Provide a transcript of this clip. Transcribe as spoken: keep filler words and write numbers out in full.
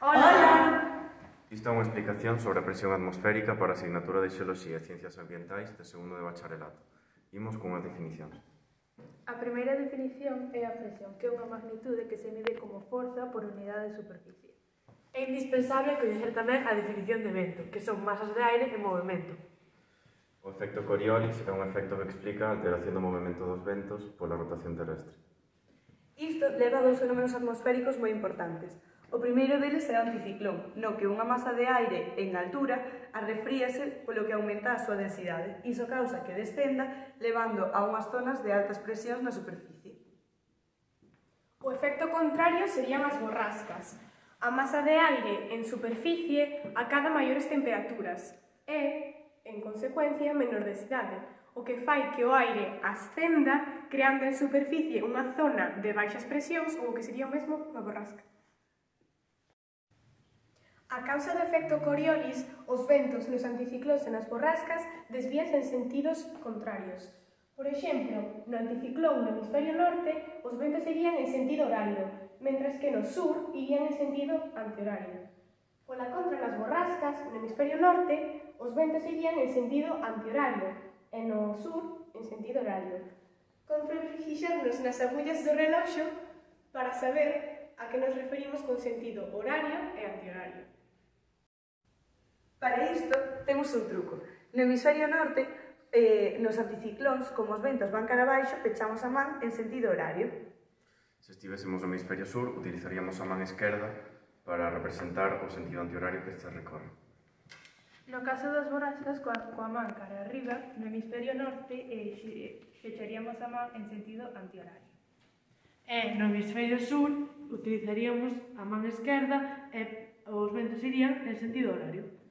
Hola! Isto é unha explicación sobre a presión atmosférica para a asignatura de Xeoloxía e Ciencias Ambientais de segundo de bacharelato. Imos cunhas definicións. A primeira definición é a presión, que é unha magnitude que se mide como forza por unidade de superficie. É indispensable coñecer tamén a definición de vento, que son masas de aire en movimento. O efecto Coriolis é un efecto que explica a alteración do movimento dos ventos pola rotación terrestre. Isto leva a dous fenómenos atmosféricos moi importantes. O primeiro deles é o anticiclón, no que unha masa de aire en altura arrefríase polo que aumenta a súa densidade. Iso causa que descenda, levando a unhas zonas de altas presións na superficie. O efecto contrario serían as borrascas. A masa de aire en superficie acada maiores temperaturas e, en consecuencia, menor densidade, o que fai que o aire ascenda creando en superficie unha zona de baixas presións ou o que sería o mesmo unha borrasca. A causa do efecto Coriolis, os ventos nos anticiclóns e nas borrascas desvíanse en sentidos contrarios. Por exemplo, no anticiclón no hemisferio norte, os ventos irían en sentido horario, mentras que no sur irían en sentido antihorario. Pola contra, nas borrascas, no hemisferio norte, os ventos irían en sentido antihorario e no sur en sentido horario. Convén fixarnos nas agullas do reloxo para saber a que nos referimos con sentido horario e antihorario. Para isto, temos un truco. No hemisferio norte, eh, nos anticiclóns, como os ventos van cara abaixo, pechamos a man en sentido horario. Se estivésemos no hemisferio sur, utilizaríamos a man esquerda para representar o sentido antihorario que este recorre. No caso das borrascas, coa, coa man cara arriba, no hemisferio norte, eh, fecharíamos a man en sentido antihorario. E no hemisferio sur utilizaríamos a man esquerda e os ventos irían en sentido horario.